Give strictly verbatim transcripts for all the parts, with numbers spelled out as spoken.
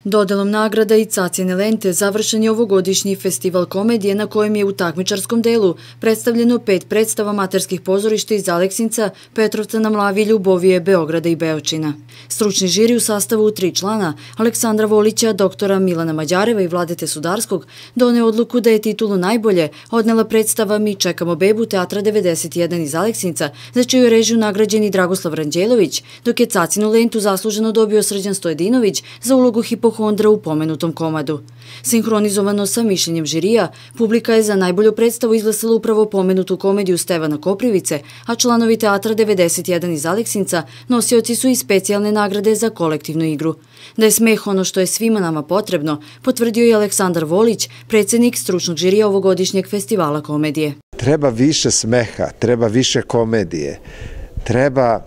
Dodelom nagrada i Cacine lente završen je ovogodišnji festival komedije na kojem je u takmičarskom delu predstavljeno pet predstava amaterskih pozorišta iz Aleksinca, Petrovca na Mlavi, Ljubovije, Beograda i Beočina. Stručni žiri u sastavu tri člana, Aleksandra Volića, doktora Milana Mađareva i Vladete Sudarskog, doneo odluku da je titulu najbolje odnela predstava Mi čekamo bebu Teatra devedeset jedan iz Aleksinca, za čiju je režiju nagrađeni Dragoslav Ranđelović, dok je Cacinu lentu zasluženo dobio Srđan Stojedinović za ulogu hipohondra u pomenutom komadu. Sinhronizovano sa mišljenjem žirija, publika je za najbolju predstavu izglasala upravo pomenutu komediju Stevana Koprivice, a članovi Teatra devedeset jedan iz Aleksinca nosioci su i specijalne nagrade za kolektivnu igru. Da je smeh ono što je svima nama potrebno, potvrdio je Aleksandar Volić, predsjednik stručnog žirija ovogodišnjeg festivala komedije. Treba više smeha, treba više komedije, treba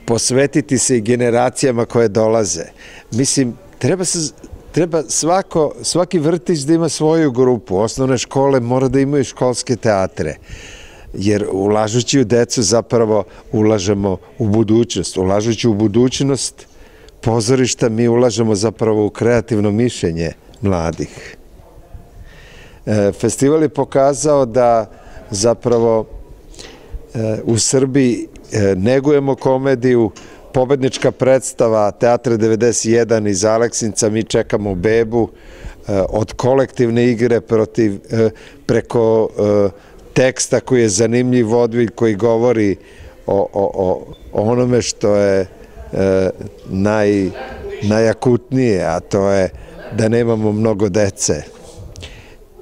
posvetiti se i generacijama koje dolaze. Mislim, treba, se, treba svako, svaki vrtić da ima svoju grupu. Osnovne škole mora da imaju školske teatre. Jer ulažući u decu zapravo ulažemo u budućnost. Ulažući u budućnost pozorišta mi ulažemo zapravo u kreativno mišljenje mladih. Festival je pokazao da zapravo u Srbiji negujemo komediju. Pobednička predstava Teatra devedeset jedan iz Aleksinca Mi čekamo bebu, od kolektivne igre protiv, preko teksta koji je zanimljiv vodvilj koji govori o, o, o onome što je naj, najakutnije, a to je da nemamo mnogo dece.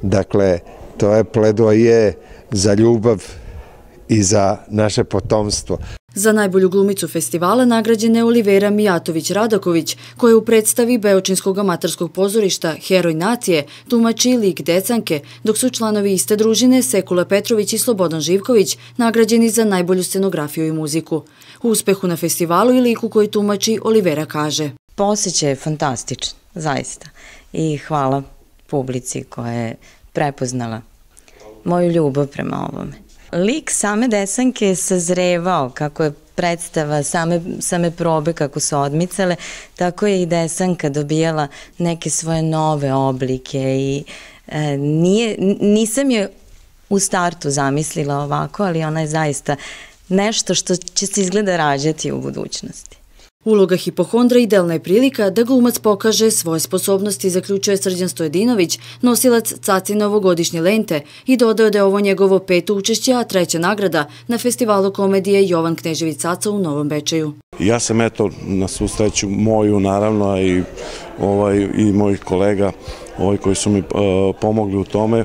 Dakle, to je pledoaje za ljubav i za naše potomstvo. Za najbolju glumicu festivala nagrađena je Olivera Mijatović-Radaković, koja je u predstavi Beočinskog amaterskog pozorišta Heroj nacije tumači lik Decanke, dok su članovi iste družine Sekula Petrović i Slobodan Živković nagrađeni za najbolju scenografiju i muziku. U uspehu na festivalu i liku koji tumači Olivera kaže: Osjećaj je fantastičan, zaista. I hvala publici koja je prepoznala moju ljubav prema ovome. Lik same Desanke je sazrevao kako je predstava, same, same probe kako su odmicale, tako je i Desanka dobijala neke svoje nove oblike i e, nije, nisam je u startu zamislila ovako, ali ona je zaista nešto što će se izgleda rađati u budućnosti. Uloga hipohondra idealna je prilika da glumac pokaže svoje sposobnosti, zaključuje Srđan Stojedinović, nosilac Cacine ovogodišnje lente, i dodao da je ovo njegovo peto učešće, a treća nagrada na festivalu komedije Jovan Knežević Caca u Novom Bečeju. Ja sam eto na svu sreću moju naravno i, ovaj, i mojih kolega ovaj, koji su mi uh, pomogli u tome, uh,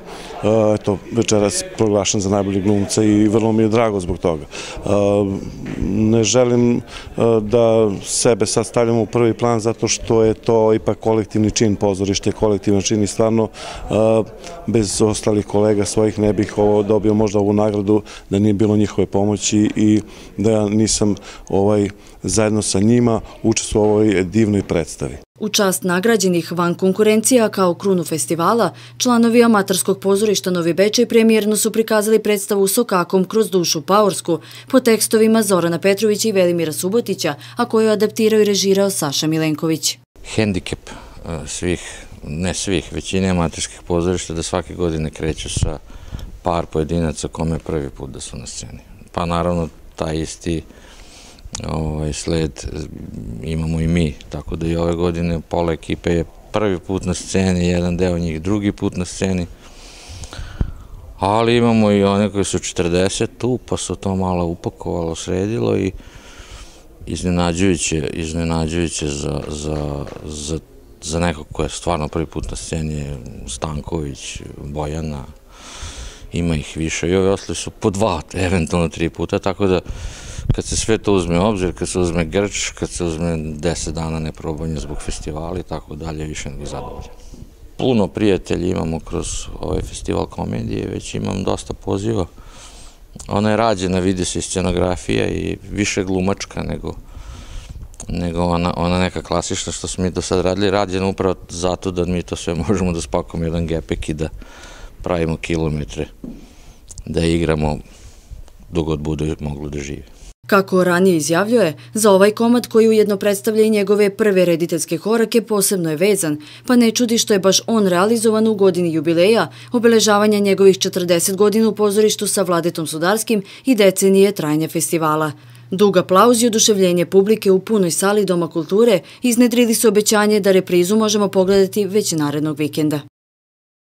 eto, večeras proglašen za najbolji glumca i vrlo mi je drago zbog toga. Uh, ne želim uh, da sebe sad stavljamo u prvi plan zato što je to ipak kolektivni čin, pozorište kolektivni čin i stvarno uh, bez ostalih kolega svojih ne bih ovo dobio možda ovu nagradu da nije bilo njihove pomoći i da ja nisam ovaj, zajedno sa njima učestvovao u ovoj divnoj predstavi. U čast nagrađenih van konkurencija kao krunu festivala, članovi amaterskog pozorišta Novi Bečej premijerno su prikazali predstavu Sokakom kroz dušu paorsku po tekstovima Zorana Petrovića i Velimira Subotića, a koju je adaptirao i režirao Saša Milenković. Hendikep svih, ne svih, većine amaterskih pozorišta da svake godine kreću sa par pojedinaca kome je prvi put da su na sceni. Pa naravno taj isti Ovaj sled imamo i mi, tako da i ove godine pola ekipe je prvi put na sceni, jedan deo njih drugi put na sceni, ali imamo i one koji su četrdeset tu, pa su to malo upakovalo, sredilo i iznenađujuće, iznenađujuće za, za, za, za nekog ko je stvarno prvi put na sceni, Stanković, Bojana, ima ih više i ovi ostali su po dva, eventualno tri puta, tako da kad se sve to uzme u obzir, kad se uzme grč, kad se uzme deset dana neprobanja zbog festivala i tako dalje, više nego zadovoljan. Puno prijatelji imamo kroz ovaj festival komedije, već imam dosta poziva. Ona je rađena, vidi se i scenografija i više glumačka nego, nego ona, ona neka klasična što smo mi do sad radili, rađena upravo zato da mi to sve možemo da spakujemo jedan gepek i da pravimo kilometre, da igramo dok god bude moglo da živi. Kako ranije izjavljuje, za ovaj komad koji ujedno predstavlja i njegove prve rediteljske korake posebno je vezan, pa ne čudi što je baš on realizovan u godini jubileja, obeležavanja njegovih četrdeset godina u pozorištu sa Vladetom Sudarskim i decenije trajanja festivala. Dug aplauz i oduševljenje publike u punoj sali Doma kulture iznedrili su obećanje da reprizu možemo pogledati već narednog vikenda.